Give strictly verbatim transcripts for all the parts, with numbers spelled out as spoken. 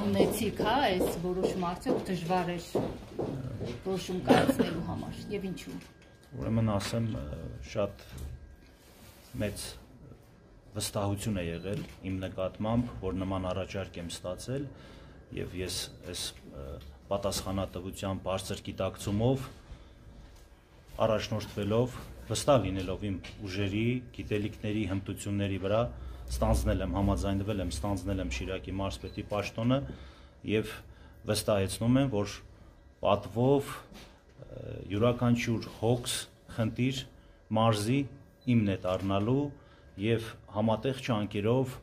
ունեցիք, հա, այս որոշումը արդյոք դժվար էր որոշում կայացնելու համար եւ ինչու։ Ուրեմն ասեմ, շատ մեծ վստահություն է եղել իմ նկատմամբ, որ նման առաջարկ եմ ստացել եւ ես այս պատասխանատվության բարձր գիտակցումով առաջնորդվելով, վստահ լինելով իմ ուժերի, գիտելիքների, հմտությունների վրա ստանձնել եմ, համաձայնվել եմ, ստանձնել եմ Շիրակի մարզպետի պաշտոնը եւ վստահեցնում եմ, որ պատվով յուրաքանչյուր հոգս, խնդիր մարզի իմն է դառնալու եւ համատեղ ջանքերով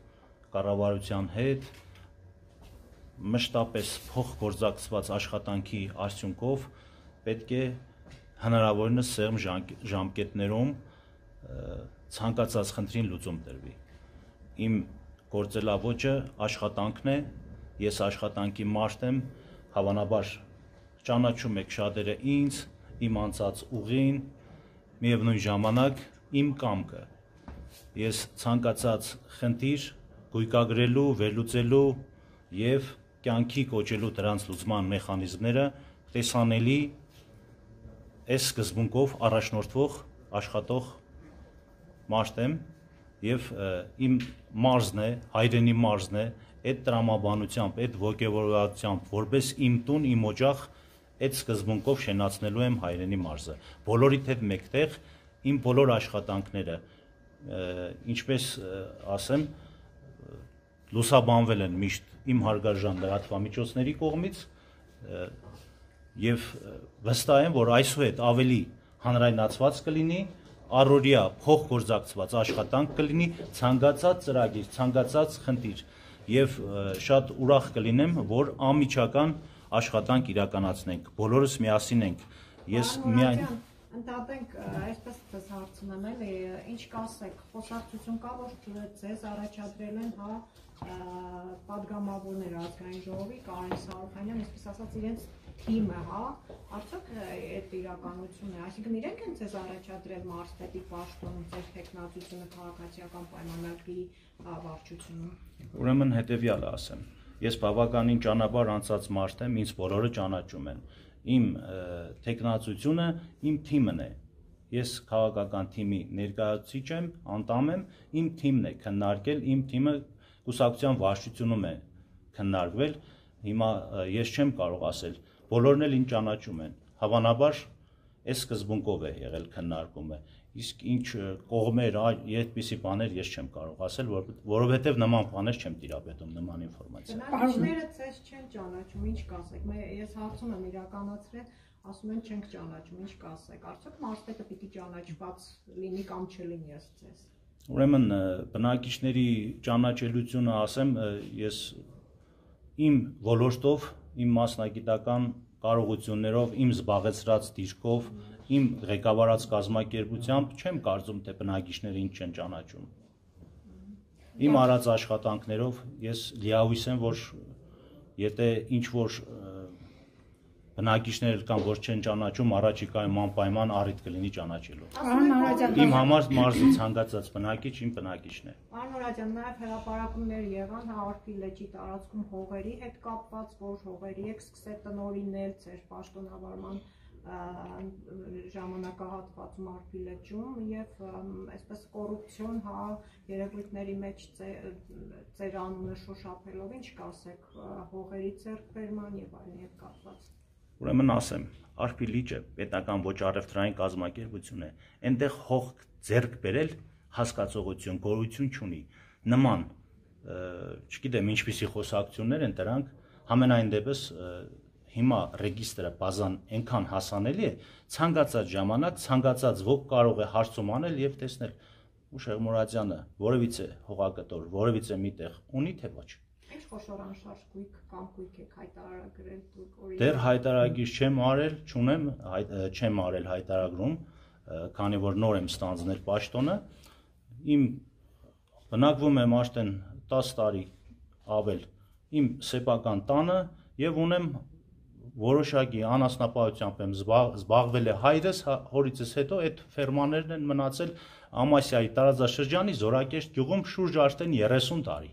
կառավարության հետ մշտապես փոխգործակցված աշխատանքի արդյունքով պետք է հնարավորինս սեղմ ժամկետներում ցանկացած խնդրին լուծում տրվի։ Իմ գործելավոճը աշխատանքն է, ես աշխատանքի մարդ եմ, հավանաբար ճանաչում եք շատերը ինձ, իմ անցած ուղին, միևնույն ժամանակ իմ կամքը։ Ես ցանկացած խնդիր գույքագրելու, վերլուծելու եւ կյանքի կոչելու դրանց լուծման մեխանիզմները տեսանելի այս սկզբունքով առաջնորդվող աշխատող մարդ եմ եւ իմ մարզն է, հայրենի մարզն է, այդ տրամաբանությամբ, այդ ոգևորվածությամբ, որպես իմ տուն, իմ օջախ, այդ սկզբունքով շենացնելու եմ հայրենի մարզը։ Բոլորիդ հետ մեկտեղ իմ բոլոր աշխատանքները, ինչպես ասեմ, լուսաբանվել են միշտ իմ հարգարժան լրատվամիջոցների կողմից եւ վստահ եմ, որ այսուհետ ավելի հանրայնացված կլինի, առօրյա փոխգործակցված աշխատանք կլինի, ցանկացած ծրագիր, ցանկացած խնդիր եւ շատ ուրախ կլինեմ, որ անմիջական աշխատանք իրականացնենք, բոլորս միասին ենք։ Ես միայն Ընդհանրենք, այսպես ձեզ հարցում եմ, էլի, ինչ կասեք, խոսակցություն կա, որ ձեզ առաջադրել են, հա, պատգամավորներ ազգային ժողովի, Կարեն Սարոխանյան, այսպես ասած իրենց թիմը, հա, արդյոք այդ իրականությունն է, այսինքն իրենք են ձեզ առաջադրել մարզպետի պաշտոնում, ձեր թեկնածությունը քաղաքացիական պայմանագրի վարչությունում։ Ուրեմն հետեւյալը ասեմ, ես բավականին ճանապարհ անցած մարդ եմ, ինձ բոլորը ճանաչում են։ Իմ թեկնածությունը իմ թիմն է, ես քաղաքական թիմի ներկայացուցիչ եմ, անդամ եմ, իմ թիմն է քննարկել, իմ թիմը կուսակցության վարչությունում է քննարկվել, հիմա ես չեմ կարող ասել, բոլորն էլ ինձ ճանաչում են, հավանաբար այս սկզբունքով է եղել քննարկումը, իսկ ինչ կողմեր, այդպիսի բաներ ես չեմ կարող ասել, որովհետև նման բաներ չեմ տիրապետում, նման ինֆորմացիա։ Բնակիչները ձեզ չեն ճանաչում, ինչ կասեք, ես հարցում եմ իրականացրել, ասում են չենք ճանաչում, ինչ կասեք, արդյոք մարզպետը պիտի ճանաչված լինի կամ չլինի ըստ ձեզ։ Ուրեմն բնակիչների ճանաչելիությունը ասեմ, ես իմ ոլորտով, իմ մասնագիտական կարողություններով, իմ զբաղեցրած դիրքով, իմ ղեկավարած կազմակերպությամբ չեմ կարծում, թե բնակիչները ինձ չեն ճանաչում։ Իմ արած աշխատանքներով ես լիահույս եմ, որ եթե ինչ-որ բնակիչներ կան, որ չեն ճանաչում, առաջիկայում անպայման առիթ կլինի ճանաչելու։ Իմ համար մարզի ցանկացած բնակիչ իմ բնակիչն է։ Պարոն Մուրադյան, նաև հրապարակումներ եղան Արփի լճի տարածքում հողերի հետ կապված, որ հողերի եք սկսել տնօրինել ձեր պաշտոնավարման ժամանակահատվածում Արփի լճում եւ այսպես կոռուպցիոն, հա, երևույթների մեջ ձեր անունը շոշափելով, ինչ կասեք հողերի ձեռքբերման եւ այլն հետ կապված։ Ուրեմն ասեմ, Արփի լիճը պետական ոչ առևտրային կազմակերպություն է, այնտեղ հող ձեռք բերել հասկացողություն, գոյություն չունի։ Նման, չգիտեմ ինչպիսի խոսակցություններ են դրանք, համենայն դեպս հիմա ռեգիստրը բազան այնքան հասանելի է, ցանկացած ժամանակ, ցանկացած ոք կարող է հարցում անել եւ տեսնել Ուշեղ Մուրադյանը որևիցե հողակտոր, որևիցե միտեղ ունի թե ոչ։ Ինչ խոշոր անշարժ գույք կամ գույք եք հայտարարագրել դուք։ Դեռ հայտարարագիր չեմ արել, չունեմ, չեմ արել հայտարարում, քանի որ նոր եմ ստանձնել պաշտոնը։ Իմ բնակվում եմ արդեն տասը տարի ավել իմ սեփական տանը եւ ունեմ որոշակի անասնապահությամբ եմ զբաղվել է հայրս, հորիցս հետո այդ ֆերմաներն են մնացել Ամասիայի տարածաշրջանի Զորակեշտ գյուղում շուրջ արդեն երեսուն տարի։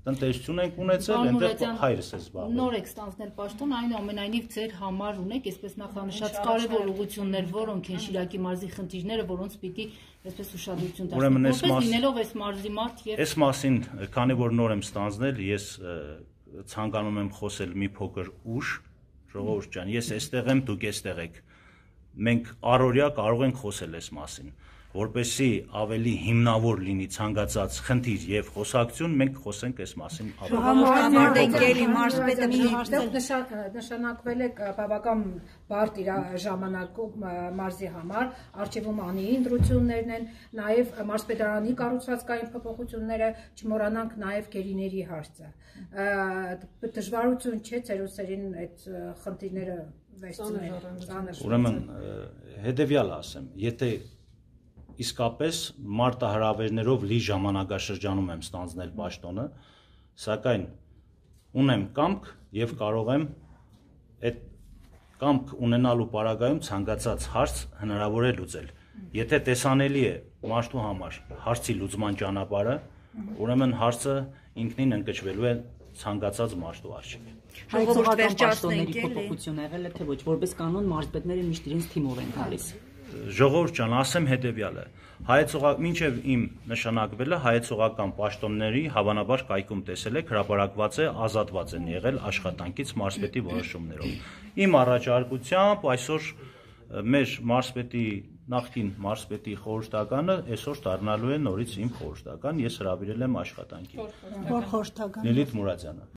տնտեսություն ենք ունեցել, այնտեղ հայրս է զբաղվել։ Նոր եք ստանձնել պաշտոն, այնուամենայնիվ ձեր համար ունեք այսպես նախանշած կարևոր ուղղություններ, որոնք են Շիրակի մարզի խնդիրները, որոնց պիտի այսպես ուշադրություն դարձնել։ Որպես լինելով այս մարզի մարդ եւ այս մասին, քանի որ նոր եմ ստանձնել, ես ցանկանում եմ խոսել մի փոքր ուշ, ժողովուրդ ջան, ես այստեղ եմ, դուք այստեղ եք։ Մենք առօրյա կարող ենք խոսել այս մասին, որպեսզի ավելի հիմնավոր լինի ցանկացած խնդիր եւ խոսակցություն, մենք խոսենք այս մասին նշանակվել է բավական բարդ ժամանակում մարզի համար, արխիվում անի ընտրություններն են, նաեւ մարզպետարանի կառուցվածքային փոփոխությունները, չմոռանանք նաեւ գերիների հարցը։ Դժվարություն չէ ձեր ուսերին այդ խնդիրները վերցնել։ Ուրեմն հետեւյալ ասեմ, եթե իսկապես մարտահրավերներով լի ժամանակաշրջանում եմ ստանձնել պաշտոնը, սակայն ունեմ կամք եւ կարող եմ այդ կամք ունենալու պարագայում ցանկացած հարց հնարավոր է լուծել։ Եթե տեսանելի է մարդու համար հարցի լուծման ճանապարհը, ուրեմն հարցը ինքնին ընկճվելու է ցանկացած մարդու առջև։ Հայցողական պաշտոնների փոփոխություն եղել է թե ոչ, որպես կանոն մարզպետները միշտ իրենց թիմով են գալիս։ Ժողովուրդ ջան, ասեմ հետեւյալը, հայեցողական մինչև իմ նշանակվելը հայեցողական պաշտոնների հավանաբար կայքում տեսել եք, հրապարակված է, ազատված են եղել աշխատանքից մարզպետի որոշումներով։ Իմ առաջարկությամբ այսօր մեր մարզպետի նախկին մարզպետի խորհրդականը այսօր դառնալու է նորից իմ խորհրդական, ես հրավիրել եմ աշխատանքի։ Որ խորհրդական։ Լիլիթ Մուրադյանը։